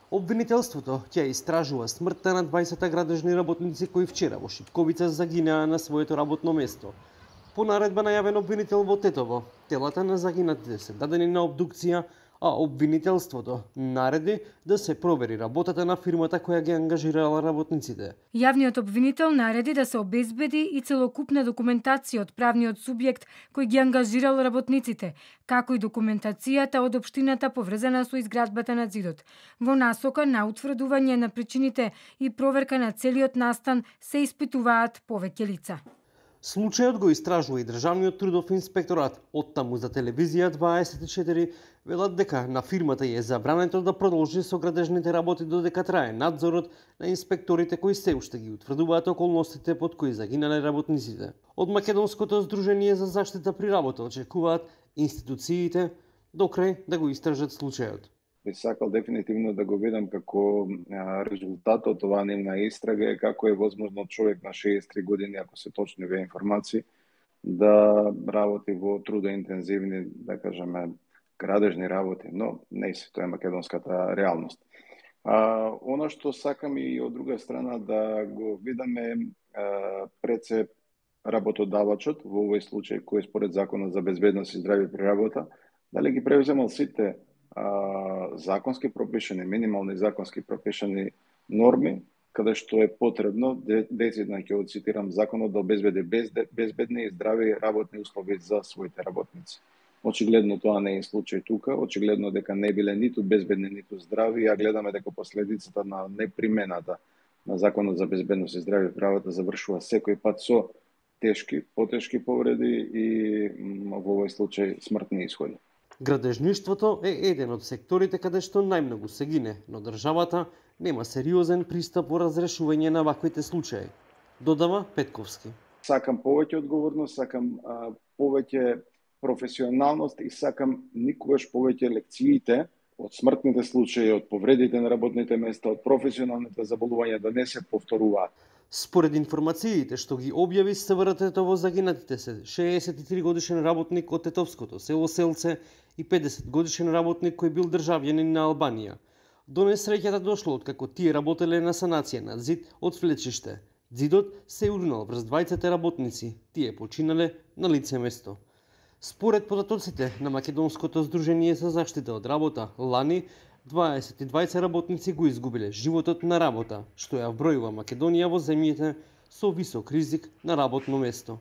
Обвинителството ќе истражува смртта на 20 градежни работници кои вчера во Шипковица загинаа на своето работно место. По наредба најавен обвинител во Тетово, телата на загинатите се дадени на обдукција, а обвинителството нареди да се провери работата на фирмата која ги ангажирала работниците. Јавниот обвинител нареди да се обезбеди и целокупна документација од правниот субјект кој ги ангажирал работниците, како и документацијата од општината поврзана со изградбата на ѕидот. Во насока на утврдување на причините и проверка на целиот настан се испитуваат повеќе лица. Случајот го истражува и Државниот трудов инспекторат. Оттаму за телевизија 24 велат дека на фирмата е забрането да продолжи со градежните работи додека трае надзорот на инспекторите кои се уште ги утврдуваат околностите под кои загинале работниците. Од Македонското здружение за заштита при работа очекуваат институциите до крај да го истражат случајот. Би сакал дефинитивно да го видам како резултат од оваа нивна истрага е како е возможно човек на 63 години, ако се точни овие информации, да работи во трудоинтензивни, да кажеме, градежни работи, но не се, тоа е македонската реалност. Она што сакам и од друга страна да го видаме пред се работодавачот, во овој случај кој според Законот за безбедност и здравје при работа, дали ги превземал сите законски пропишани, минимални законски пропишани норми, каде што е потребно, децидно ќе го цитирам, законот да обезбеди безбедни и здрави работни услови за своите работници. Очигледно тоа не е случај тука, очигледно дека не биле ниту безбедни, ниту здрави, а гледаме дека последицата на непримената на Законот за безбедност и здравје при работа завршува секој пат со тешки, потешки повреди и во овој случај смртни исходи. Градежништвото е еден од секторите каде што најмногу се гине, но државата нема сериозен пристап во разрешување на ваквите случаи, додава Петковски. Сакам повеќе одговорност, сакам повеќе професионалност и сакам никогаш повеќе лекциите од смртните случаи, од повредите на работните места, од професионалните заболувања да не се повторуваат. Според информациите што ги објави СВР Тетово, загинатите се 63 годишен работник од тетовското село Селце и 50 годишен работник кој бил државјанин на Албанија. До несреќата дошло откако тие работеле на санација на ѕид од влечиште. Ѕидот се урнал врз двајцата работници, тие починале на лице место. Според податоците на Македонското здружение за заштита од работа, лани 22 работници го изгубиле животот на работа, што ја вбројува Македонија во земјите со висок ризик на работно место.